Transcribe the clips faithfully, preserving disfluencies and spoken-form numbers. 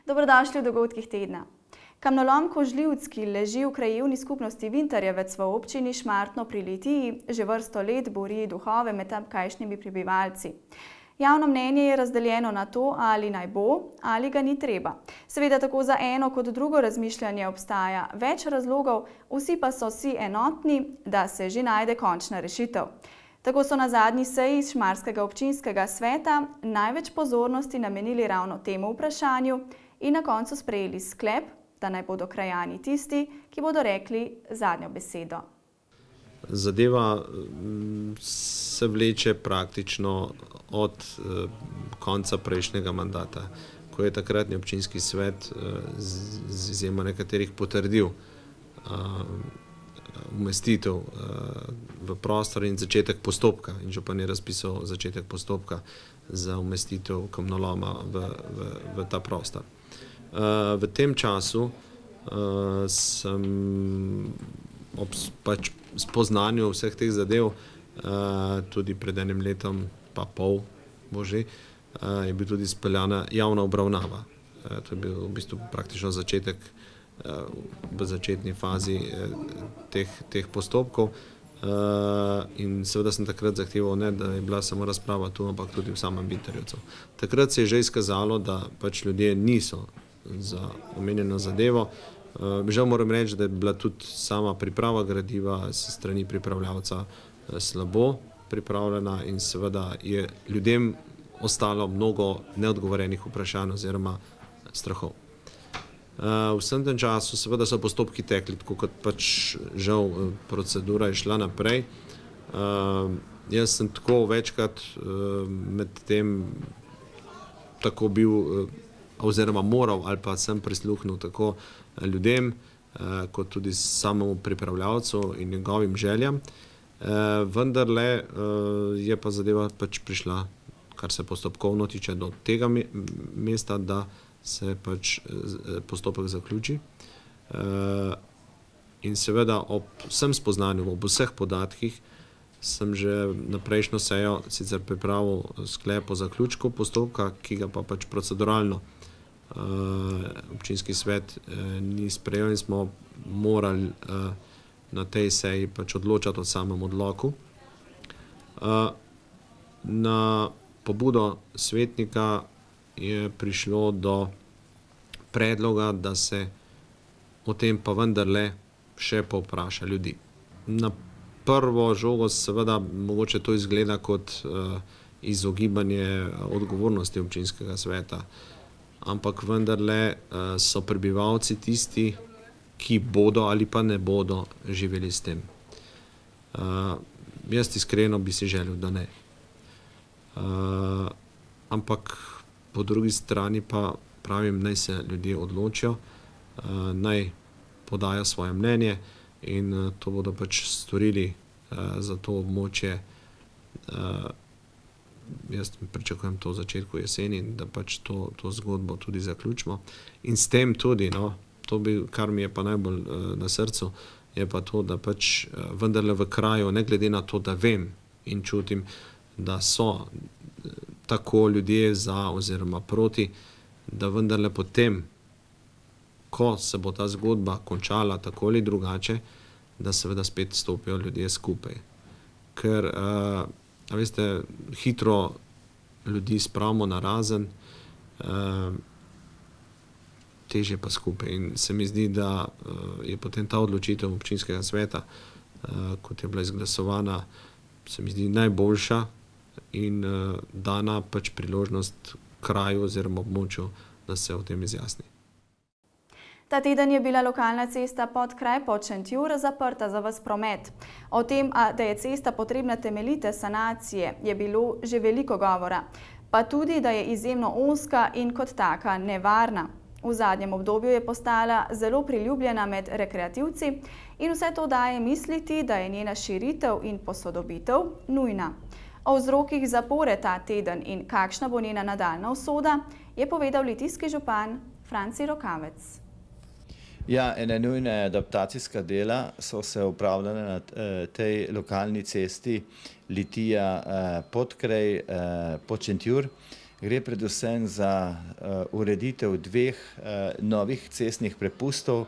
Dobrodošli v dogodkih tedna. Kamnolom Kožljivc, ki leži v krajevni skupnosti Vintarjevec v občini Šmartno pri Litiji, že vrsto let buri duhove med tamkajšnjimi prebivalci. Javno mnenje je razdeljeno na to, ali naj bo, ali ga ni treba. Seveda tako za eno kot drugo razmišljanje obstaja več razlogov, vsi pa so si enotni, da se že najde končna rešitev. Tako so na zadnji seji Šmarskega občinskega sveta največ pozornosti namenili ravno temu vprašanju in na koncu sprejeli sklep, da naj bodo krajani tisti, ki bodo rekli zadnjo besedo. Zadeva se vleče praktično od konca prejšnjega mandata, ko je takratni občinski svet z izjemo nekaterih potrdil umestitev v prostor in začetek postopka. In župan je razpisal začetek postopka za umestitev kamnoloma v, v, v ta prostor. V tem času sem ob pač spoznanju vseh teh zadev, tudi pred enim letom pa pol bo že, je bil tudi speljana javna obravnava. To je bil v bistvu praktično začetek v začetni fazi teh, teh postopkov in seveda sem takrat zahteval, ne, da je bila samo razprava tu, ampak tudi v samem Vintarjevcu. Takrat se je že izkazalo, da pač ljudje niso za omenjeno zadevo. Žal moram reči, da je bila tudi sama priprava gradiva s strani pripravljavca slabo pripravljena in seveda je ljudem ostalo mnogo neodgovorenih vprašanj oziroma strahov. V vsem tem času seveda so postopki tekli, tako kot pač žal procedura je šla naprej. Jaz sem tako večkrat med tem tako bil oziroma moral ali pa sem prisluhnil tako ljudem, kot tudi samemu pripravljavcu in njegovim željam. Vendarle je pa zadeva pač prišla, kar se postopkovno tiče, do tega mesta, da se pač postopek zaključi. In seveda ob vsem spoznanju, ob vseh podatkih, sem že na prejšnjo sejo sicer pripravil sklep o zaključku postopka, ki ga pa pač proceduralno občinski svet ni sprejel in smo morali na tej seji pač odločati o samem odloku. Na pobudo svetnika je prišlo do predloga, da se o tem pa vendarle še povpraša ljudi. Na prvo žogo seveda mogoče to izgleda kot izogibanje odgovornosti občinskega sveta, ampak vendarle so prebivalci tisti, ki bodo ali pa ne bodo živeli s tem. Jaz iskreno bi si želel, da ne. Ampak po drugi strani pa pravim, naj se ljudje odločijo, naj podajo svoje mnenje in to bodo pač storili za to območje. Jaz pričakujem to v začetku jeseni, da pač to, to zgodbo tudi zaključimo. In s tem tudi, no, to bi, kar mi je pa najbolj na srcu, je pa to, da pač vendarle v kraju, ne glede na to, da vem in čutim, da so tako ljudje za oziroma proti, da vendarle potem, ko se bo ta zgodba končala tako ali drugače, da seveda spet stopijo ljudje skupaj. Ker, a veste, hitro ljudi spravimo na razen, težje pa skupaj. In se mi zdi, da je potem ta odločitev občinskega sveta, kot je bila izglasovana, se mi zdi najboljša in dana pač priložnost kraju oziroma območju, da se o tem izjasni. Ta teden je bila lokalna cesta Podkraj Pod-Šentjur zaprta za ves promet. O tem, da je cesta potrebna temeljite sanacije, je bilo že veliko govora, pa tudi, da je izjemno ozka in kot taka nevarna. V zadnjem obdobju je postala zelo priljubljena med rekreativci in vse to daje misliti, da je njena širitev in posodobitev nujna. O vzrokih zapore ta teden in kakšna bo njena nadaljnja usoda, je povedal litijski župan Franci Rokavec. Ja, ene nujne adaptacijska dela so se upravljale na tej lokalni cesti Litija Podkraj Pod-Šentjur. Gre predvsem za uh, ureditev dveh uh, novih cestnih prepustov,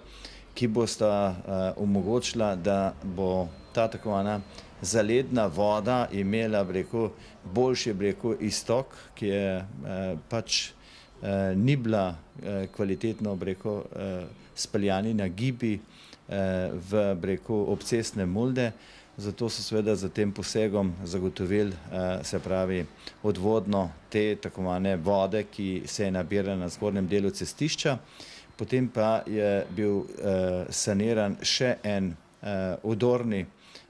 ki bosta uh, omogočila, da bo ta tako imenovana zaledna voda imela, bi rekel, boljši, bi rekel, iztok, ki je uh, pač uh, ni bila uh, kvalitetno, bi rekel, uh, speljani na gibi uh, v, bi rekel, obcestne mulde. Zato so seveda za tem posegom zagotovili, se pravi, odvodno te tako imenovane vode, ki se je nabirala na zgornjem delu cestišča. Potem pa je bil saniran še en odorni,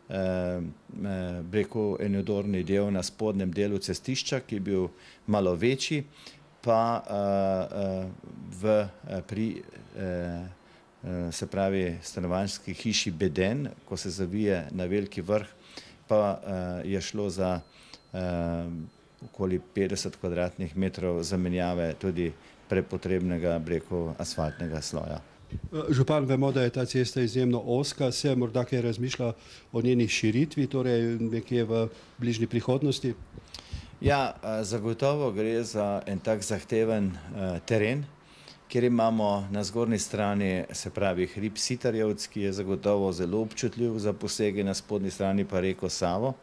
bi rekel, en odorni del na spodnjem delu cestišča, ki je bil malo večji, pa v pri se pravi stanovanjski hiši Beden, ko se zavije na Veliki Vrh, pa je šlo za okoli petdeset kvadratnih metrov zamenjave tudi prepotrebnega, bi rekel, asfaltnega sloja. Župan, vemo, da je ta cesta izjemno ozka, se morda kaj razmišlja o njeni širitvi, torej nekje v bližnji prihodnosti? Ja, zagotovo gre za en tak zahteven teren, kjer imamo na zgornji strani, se pravi, hrib Sitarjevc, ki je zagotovo zelo občutljiv za posege, na spodnji strani pa reko Savo.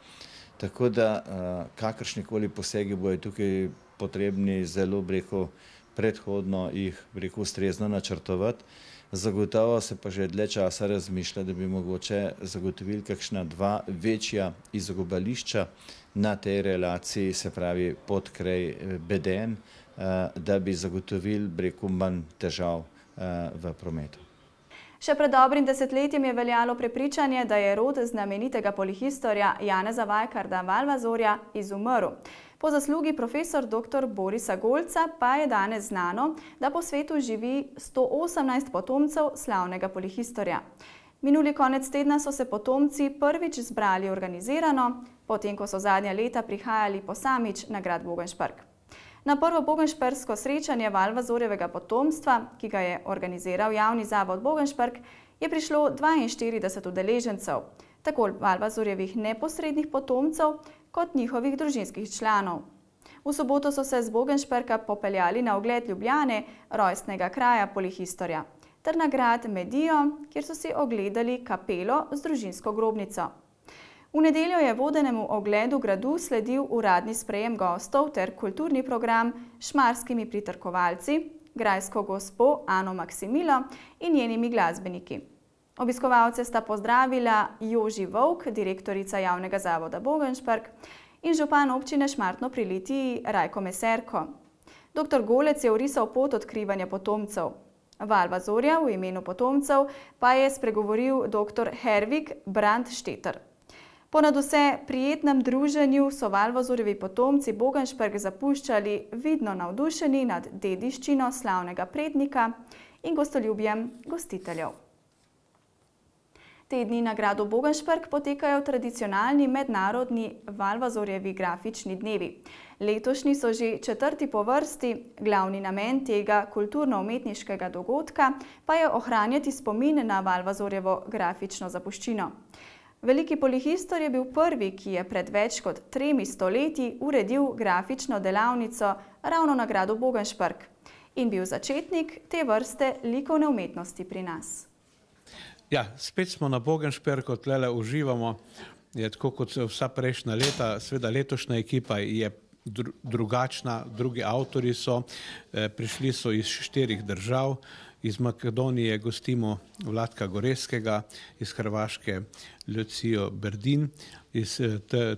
Tako da kakršnikoli posegi bojo tukaj potrebni zelo, bi rekel, predhodno jih, bi rekel, ustrezno načrtovati. Zagotovo se pa že dlje časa razmišlja, da bi mogoče zagotovili kakšna dva večja izogibališča na tej relaciji, se pravi, pod kraj Beden, da bi zagotovili, bi rekel, manj težav v prometu. Še pred dobrim desetletjem je veljalo prepričanje, da je rod znamenitega polihistorja Janeza Vajkarda Valvazorja izumrl. Po zaslugi profesor doktor Borisa Golca pa je danes znano, da po svetu živi sto osemnajst potomcev slavnega polihistorja. Minuli konec tedna so se potomci prvič zbrali organizirano, potem ko so zadnja leta prihajali posamič na grad Bogenšperk. Na prvo bogenšpersko srečanje Valvazorjevega potomstva, ki ga je organiziral javni zavod Bogenšperk, je prišlo dvainštirideset udeležencev, tako Valvazorjevih neposrednih potomcev kot njihovih družinskih članov. V soboto so se z Bogenšperka popeljali na ogled Ljubljane, rojstnega kraja polihistorja, ter na grad Medijo, kjer so si ogledali kapelo z družinsko grobnico. V nedeljo je vodenemu ogledu gradu sledil uradni sprejem gostov ter kulturni program s šmarskimi pritrkovalci, grajsko gospo Ano Maksimilo in njenimi glasbeniki. Obiskovalce sta pozdravila Joži Vovk, direktorica javnega zavoda Bogenšperk, in župan občine Šmartno pri Litiji Rajko Meserko. Doktor Golec je orisal pot odkrivanja potomcev. Valvazorja v imenu potomcev pa je spregovoril doktor Hervik Brandšteter. Po nadvse prijetnem druženju so Valvazorjevi potomci Bogenšperk zapuščali vidno navdušeni nad dediščino slavnega prednika in gostoljubjem gostiteljev. Te dni na gradu Bogenšperk potekajo tradicionalni mednarodni Valvazorjevi grafični dnevi. Letošnji so že četrti po vrsti, glavni namen tega kulturno-umetniškega dogodka pa je ohranjati spomin na Valvazorjevo grafično zapuščino. Veliki polihistor je bil prvi, ki je pred več kot tremi stoletji uredil grafično delavnico ravno na gradu Bogenšperk in bil začetnik te vrste likovne umetnosti pri nas. Ja, spet smo na Bogenšperku, tlele uživamo, je tako kot vsa prejšnja leta, seveda letošnja ekipa je drugačna, drugi avtori so, prišli so iz štirih držav, iz Makedonije gostimo Vladka Goreskega, iz Hrvaške Lucijo Berdin, iz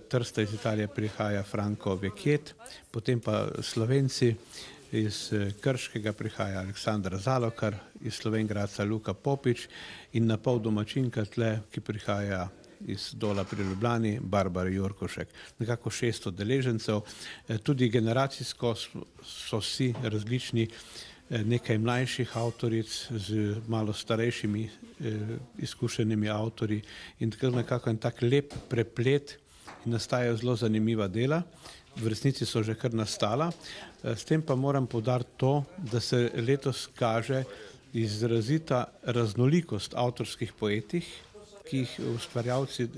Trsta iz Italije prihaja Franko Vekjet, potem pa Slovenci, iz Krškega prihaja Aleksandar Zalokar, iz Slovengradca Luka Popič in na pol domačinka tle, ki prihaja iz Dola pri Ljubljani, Barbara Jurkošek. Nekako šest udeležencev, tudi generacijsko so vsi različni, nekaj mlajših avtoric z malo starejšimi izkušenimi avtorji in tako nekako en tak lep preplet in nastajajo zelo zanimiva dela. V resnici so že kar nastala. S tem pa moram poudariti to, da se letos kaže izrazita raznolikost avtorskih poetih, ki jih ustvarjalci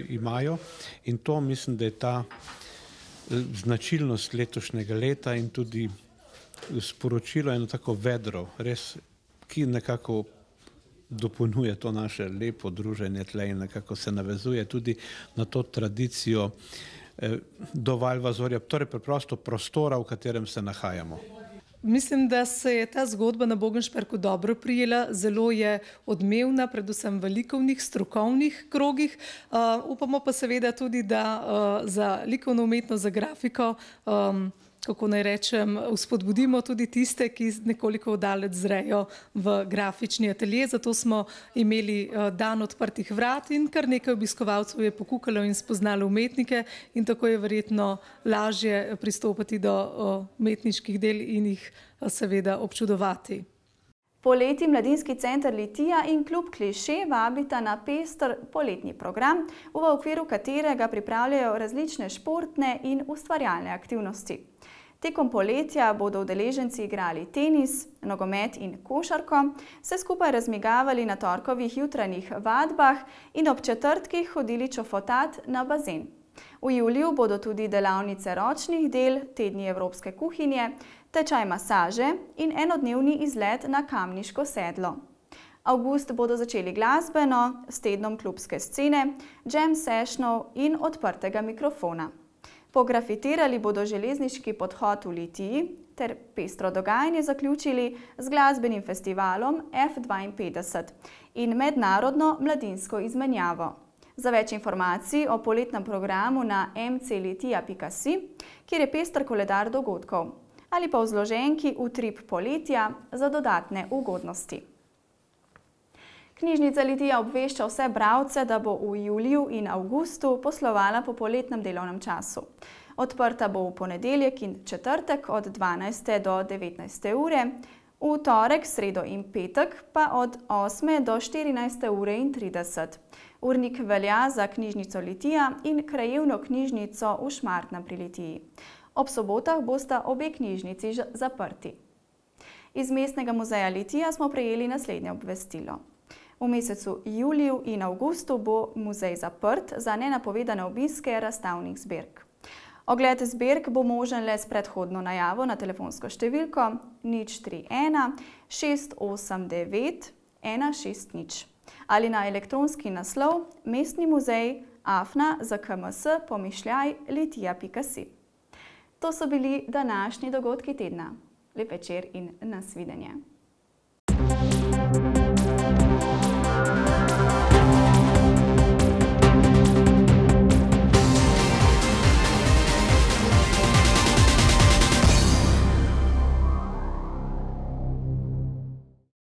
imajo in to mislim, da je ta značilnost letošnjega leta in tudi sporočilo eno tako vedro, res, ki nekako dopolnjuje to naše lepo druženje tle in nekako se navezuje tudi na to tradicijo do Valvazorja, torej preprosto prostora, v katerem se nahajamo. Mislim, da se je ta zgodba na Bogenšperku dobro prijela, zelo je odmevna, predvsem v likovnih, strokovnih krogih. Uh, upamo pa seveda tudi, da uh, za likovno umetnost, za grafiko, um, kako naj rečem, vzpodbudimo tudi tiste, ki nekoliko oddaleč zrejo v grafični atelje. Zato smo imeli dan odprtih vrat in kar nekaj obiskovalcev je pokukalo in spoznalo umetnike in tako je verjetno lažje pristopati do umetniških del in jih seveda občudovati. Poleti Mladinski center Litija in klub Kliše vabita na pester poletni program, v okviru katerega pripravljajo različne športne in ustvarjalne aktivnosti. Tekom poletja bodo udeleženci igrali tenis, nogomet in košarko, se skupaj razmigavali na torkovih jutranjih vadbah in ob četrtkih hodili čofotat na bazen. V juliju bodo tudi delavnice ročnih del, tedni evropske kuhinje, tečaj masaže in enodnevni izlet na Kamniško sedlo. Avgust bodo začeli glasbeno, s tednom klubske scene, jam sessionov in odprtega mikrofona. Pografitirali bodo železniški podhod v Litiji ter pestro dogajanje zaključili z glasbenim festivalom F dvainpetdeset in mednarodno mladinsko izmenjavo. Za več informacij o poletnem programu na m c litija pika si, kjer je pester koledar dogodkov, ali pa v zloženki Utrip poletja za dodatne ugodnosti. Knjižnica Litija obvešča vse bralce, da bo v juliju in avgustu poslovala po poletnem delovnem času. Odprta bo v ponedeljek in četrtek od dvanajste do devetnajste ure, v torek, sredo in petek pa od osme do štirinajste ure in trideset. Urnik velja za knjižnico Litija in krajevno knjižnico v Šmartnem pri Litiji. Ob sobotah bosta obe knjižnici zaprti. Iz Mestnega muzeja Litija smo prejeli naslednje obvestilo. V mesecu juliju in avgustu bo muzej zaprt za nenapovedane obiske razstavnih zbirk. Ogled zbirk bo možen le s predhodno najavo na telefonsko številko nič tri ena šest osem devet ena šest nič ali na elektronski naslov mestni muzej afna z k m s pomišljaj litija pika si. To so bili današnji dogodki tedna. Lep večer in nasvidenje.